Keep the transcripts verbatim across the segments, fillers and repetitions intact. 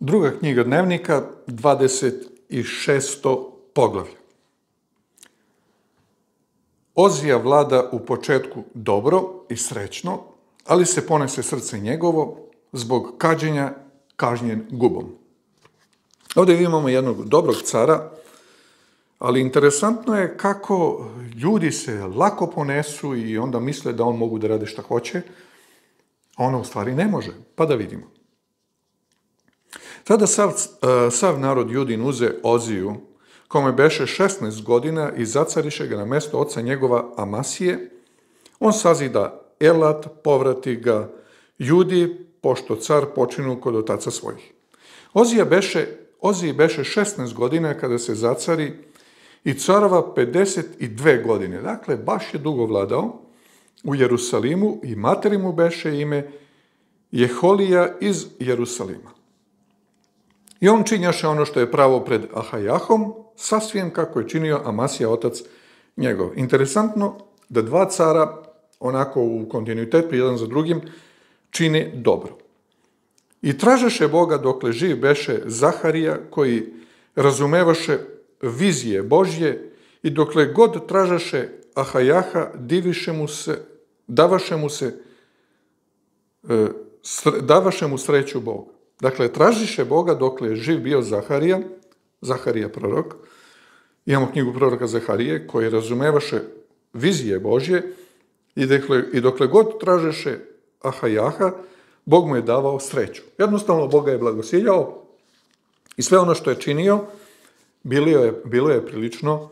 Druga knjiga Dnevnika, dvadeset šesto poglavlje. Ozija vlada u početku dobro i srećno, ali se ponese srce njegovo zbog kađenja kažnjen gubom. Ovdje imamo jednog dobrog cara, ali interesantno je kako ljudi se lako ponesu i onda misle da on mogu da rade šta hoće, a ono u stvari ne može. Pa da vidimo. Tada sav, sav narod Judin uze Oziju, kome beše šesnaest godina, i zacariše ga na mesto oca njegova Amasije. On sazida Elat, povrati ga Judi, pošto car počinu kod otaca svojih. Ozija beše, Oziji beše šesnaest godina kada se zacari i carova pedeset dve godine. Dakle, baš je dugo vladao u Jerusalimu i materi mu beše ime Jeholija iz Jerusalima. I on činjaše ono što je pravo pred Ahajahom, sasvim kako je činio Amasija, otac njegov. Interesantno da dva cara, onako u kontinuitetu, jedan za drugim, čine dobro. I tražeše Boga dokle živ beše Zaharija, koji razumevaše vizije Božje, i dokle god tražaše Ahajaha, diviše mu se, davaše mu se, davaše mu sreću Boga. Dakle, tražiše Boga dokle je živ bio Zaharija, Zaharija prorok. Imamo knjigu proroka Zaharije, koji razumevaše vizije Božje, i dokle, i dokle god tražeše Ahajaha, Bog mu je davao sreću. Jednostavno, Boga je blagosiljao i sve ono što je činio, bilo je, bilo je prilično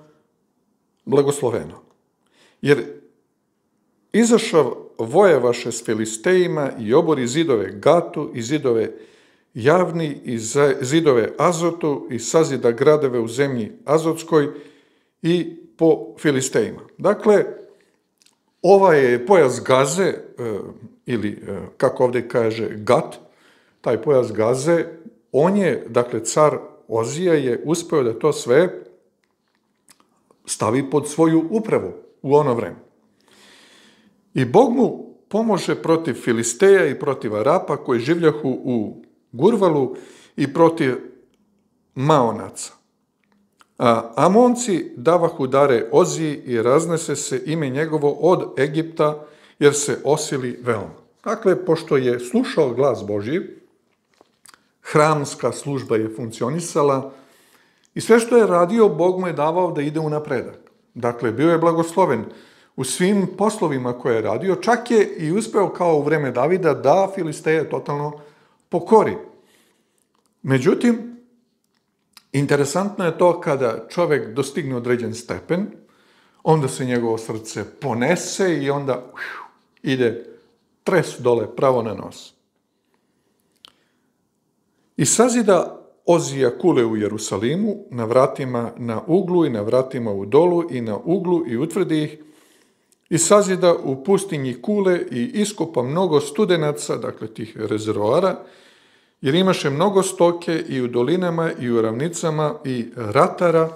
blagosloveno. Jer izašav vojevaše s Filistejima i obori zidove Gatu i zidove Javni i zidove Azotu i sazida gradove u zemlji Azotskoj i po Filistejima. Dakle, ovaj je pojas Gaze, ili kako ovdje kaže Gat, taj pojas Gaze, on je, dakle, car Ozija je uspeo da to sve stavi pod svoju upravu u ono vreme. I Bog mu pomože protiv Filisteja i protiv Arapa koji življahu u Gurvalu i protiv Maonaca. A Amonci davahu dare Oziji i raznese se ime njegovo od Egipta, jer se osili veoma. Dakle, pošto je slušao glas Božji, hramska služba je funkcionisala i sve što je radio, Bog mu je davao da ide u napredak. Dakle, bio je blagosloven u svim poslovima koje je radio, čak je i uspeo kao u vreme Davida da Filisteje totalno pokori. Međutim, interesantno je to kada čovjek dostigne određen stepen, onda se njegovo srce ponese i onda uf, ide tres dole pravo na nos. I sazida Ozija kule u Jerusalimu, na vratima na uglu i na vratima u dolu i na uglu i utvrdi ih, i sazida u pustinji kule i iskopa mnogo studenaca, dakle tih rezervoara, jer imaše mnogo stoke i u dolinama i u ravnicama i ratara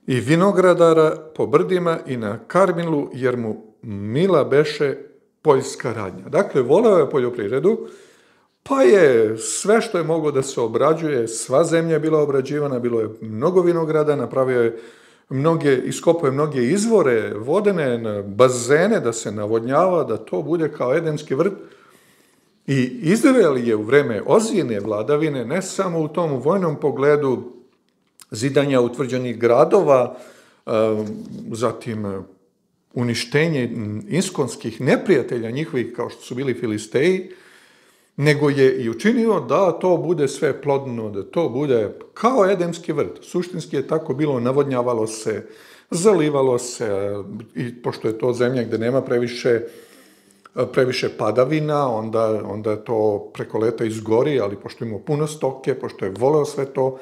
i vinogradara po brdima i na Karmilu, jer mu mila beše poljska radnja. Dakle, voleo je poljoprivredu, pa je sve što je moglo da se obrađuje, sva zemlja je bila obrađivana, bilo je mnogo vinograda, napravio je mnoge, iskopao je mnoge izvore, vodene bazene da se navodnjava, da to bude kao edenski vrt. I Izrael je u vreme Ozijine vladavine, ne samo u tom vojnom pogledu zidanja utvrđenih gradova, zatim uništenje iskonskih neprijatelja njihovih kao što su bili Filisteji, nego je i učinio da to bude sve plodno, da to bude kao edemski vrt. Suštinski je tako bilo, navodnjavalo se, zalivalo se, i pošto je to zemlja gde nema previše previše padavina, onda, onda to preko leta izgori, ali pošto ima puno stoke, pošto je voleo sve to,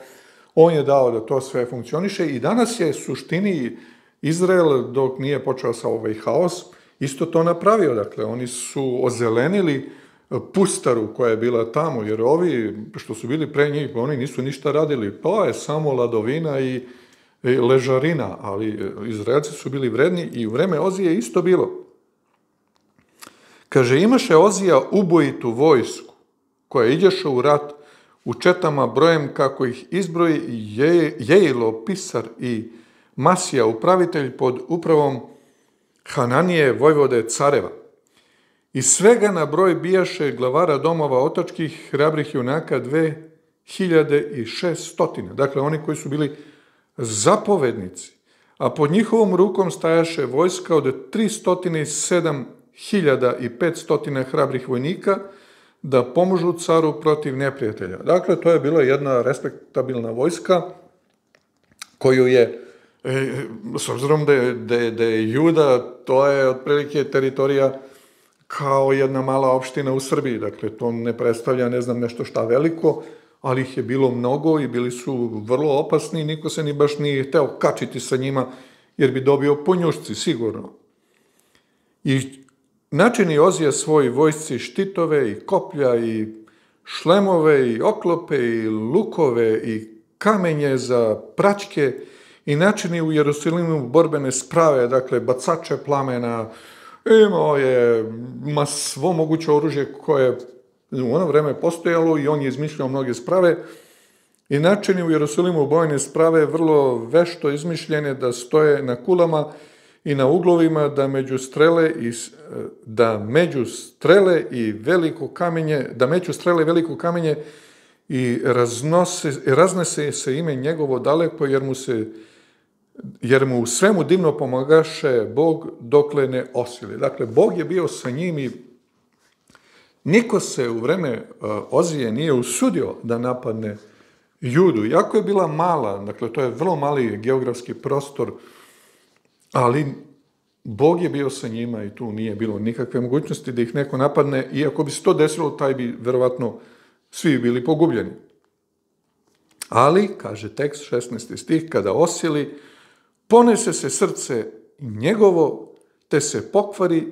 on je dao da to sve funkcioniše i danas je suštini Izrael, dok nije počeo sa ovaj haos, isto to napravio. Dakle, oni su ozelenili pustaru koja je bila tamo, jer ovi što su bili pre njih, oni nisu ništa radili, to je samo ladovina i, i ležarina, ali Izraelci su bili vredni i u vreme Ozije isto bilo. Kaže, imaše Ozija ubojitu vojsku koja idješe u rat u četama brojem kako ih izbroji Je, Jejilo, pisar i Masija, upravitelj pod upravom Hananije, vojvode careva. I svega na broj bijaše glavara domova otačkih hrabrih junaka dve hiljade i šest stotina. Dakle, oni koji su bili zapovednici, a pod njihovom rukom stajaše vojska od tri stotine sedam hiljada i pet stotina hrabrih vojnika da pomožu caru protiv neprijatelja. Dakle, to je bila jedna respektabilna vojska koju je, e, s obzirom da je, da je, da je Juda, to je otprilike teritorija kao jedna mala opština u Srbiji. Dakle, to ne predstavlja, ne znam, nešto šta veliko, ali ih je bilo mnogo i bili su vrlo opasni i niko se ni baš nije hteo kačiti sa njima, jer bi dobio ponjušci, sigurno. I načini Ozija svoj vojsci štitove i koplja i šlemove i oklope i lukove i kamenje za praćke i načini u Jerusalimu borbene sprave, dakle bacače plamena, imao je ma svo moguće oružje koje u ono vreme postojalo i on je izmišljao mnoge sprave i načini u Jerusalimu bojne sprave vrlo vešto izmišljene da stoje na kulama i na uglovima, da među strele i da među strele i veliko kamenje, da među strele i veliko kamenje i raznose, raznese se ime njegovo daleko, jer mu se jer mu u svemu divno pomagaše Bog dokle ne osili. Dakle, Bog je bio sa njim i niko se u vreme Ozije nije usudio da napadne Judu. Iako je bila mala, dakle, to je vrlo mali geografski prostor, ali Bog je bio sa njima i tu nije bilo nikakve mogućnosti da ih neko napadne, i ako bi se to desilo, taj bi verovatno svi bili pogubljeni. Ali, kaže tekst, šesnaesti stih, kada osili, ponese se srce njegovo, te se pokvari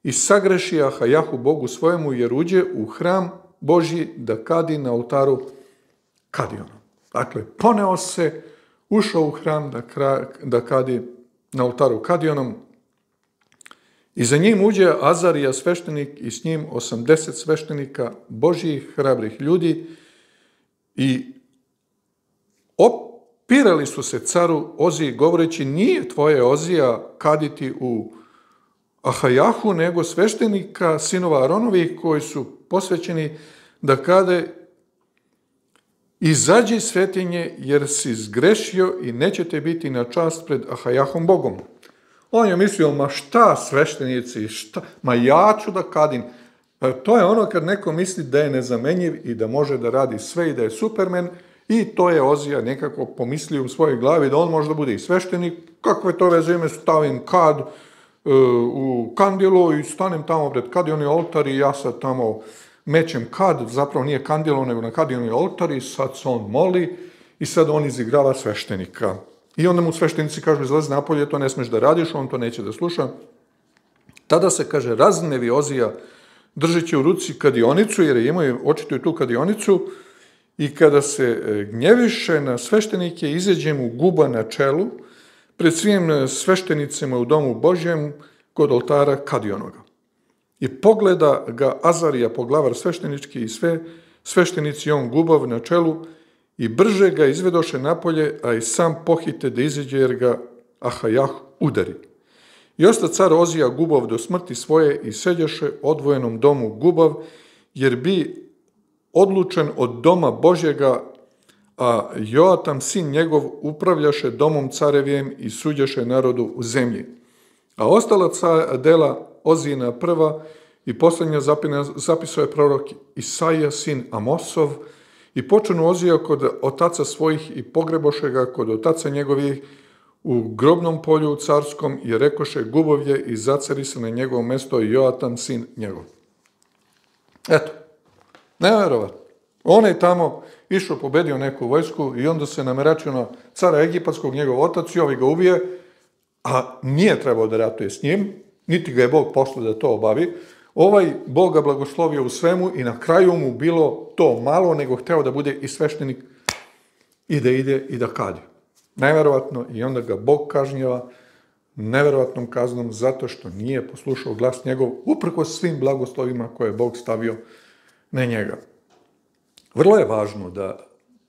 i sagreši Ahajahu Bogu svojemu, jer uđe u hram Božji da kadi na oltaru Kadionom. Dakle, poneo se, ušao u hram da, kra, da kadi na oltaru Kadionom i za njim uđe Azarija sveštenik i s njim osamdeset sveštenika Božjih hrabrih ljudi i opirali su se caru Oziji govoreći: nije tvoje, Ozija, kaditi u Ahajahu, nego sveštenika sinova Aronovih koji su posvećeni da kade: izađi iz svetinje, jer si zgrešio i nećete biti na čast pred Ahajahom Bogom. On je mislio, ma šta sveštenici, šta, ma ja ću da kadim. To je ono kad neko misli da je nezamenjiv i da može da radi sve i da je supermen, i to je Ozija nekako pomislio u svojoj glavi da on može da bude i sveštenik. Kakve to veze ime, stavim kad uh, u kandilo i stanem tamo pred Kadioni oltar i ja sad tamo mećem kad, zapravo nije kandilo, nego na Kadioni oltar, i sad se on moli i sad on izigrava sveštenika. I onda mu sveštenici kažu: izlazi napolje, to ne smeš da radiš, on to neće da sluša. Tada se, kaže, raznevi Ozija držeći u ruci kadionicu, jer je imao očito i tu kadionicu, i kada se gnjeviše na sveštenike, izađe mu guba na čelu pred svim sveštenicima u domu Božjem kod oltara Kadionoga. I pogleda ga Azarija, poglavar sveštenički, i sve sveštenici on gubav na čelu, i brže ga izvedoše napolje, a i sam pohite da izađe, jer ga Ahajah udari. I osta car Ozija gubav do smrti svoje i sedjaše odvojenom domu gubav, jer bi odlučen od doma Božjega, a Joatam sin njegov upravljaše domom carevijem i suđaše narodu u zemlji. A ostala dela Ozijina prva i posljednja zapisao je prorok Isaija sin Amosov, i počenu Ozija kod otaca svojih i pogreboše ga kod otaca njegovih u grobnom polju carskom, i rekoše: gubovlje, i zacari se na njegovo mesto Joatam sin njegov. Eto, nevjerovatno. On je tamo išao, pobedio neku vojsku i onda se nameračio na cara Egipatskog, njegov otac, i ovi ga ubije, a nije trebao da ratuje s njim, niti ga je Bog poslao da to obavi. Ovaj Bog ga blagoslovio u svemu i na kraju mu bilo to malo, nego hteo da bude i sveštenik i da ide i da kadi. Neverovatno, i onda ga Bog kažnjava neverovatnom kaznom zato što nije poslušao glas njegov, uprkos svim blagoslovima koje je Bog stavio na njega. vrlo je važno da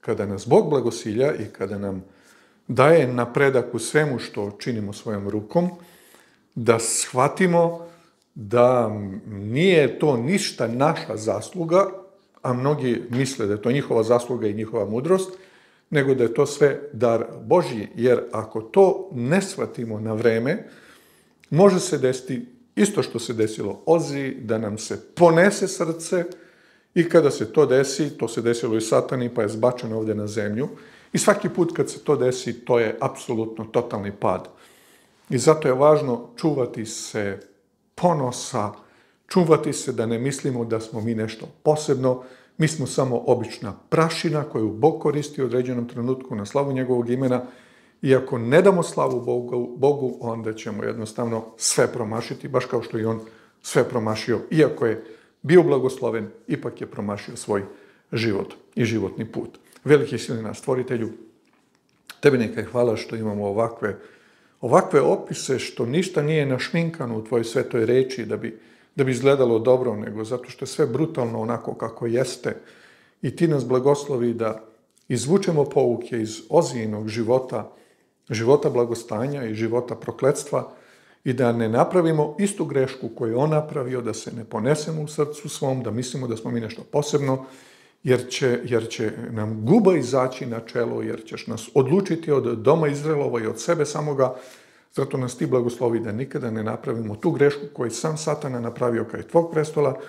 kada nas Bog blagosilja i kada nam daje napredak u svemu što činimo svojom rukom, da shvatimo da nije to ništa naša zasluga, a mnogi misle da je to njihova zasluga i njihova mudrost, nego da je to sve dar Božji, jer ako to ne shvatimo na vreme, može se desiti isto što se desilo Oziji, da nam se ponese srce i kada se to desi, to se desilo i Satani, pa je zbačen ovdje na zemlju, i svaki put kad se to desi, to je apsolutno totalni pad. I zato je važno čuvati se ponosa, čuvati se da ne mislimo da smo mi nešto posebno, mi smo samo obična prašina koju Bog koristi u određenom trenutku na slavu njegovog imena i ako ne damo slavu Bogu, Bogu, onda ćemo jednostavno sve promašiti, baš kao što je on sve promašio. Iako je bio blagosloven, ipak je promašio svoj život i životni put. Veliki sili naš stvoritelju, tebi neka je hvala što imamo ovakve, ovakve opise, što ništa nije našminkano u tvojoj svetoj reči da bi da bi izgledalo dobro, nego zato što je sve brutalno onako kako jeste. I ti nas blagoslovi da izvučemo pouke iz Ozijinog života, života blagostanja i života prokletstva i da ne napravimo istu grešku koju je on napravio, da se ne ponesemo u srcu svom, da mislimo da smo mi nešto posebno, jer će, jer će nam guba izaći na čelo, jer ćeš nas odlučiti od doma Izraelova i od sebe samoga. Zato nas ti blagoslovi da nikada ne napravimo tu grešku koju sam Satana napravio kraj tvog prestola.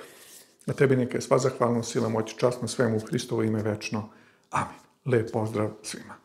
A tebi neka je sva zahvalnost, sila, moć, čast na svemu u Hristovo ime večno. Amin. Lep pozdrav svima.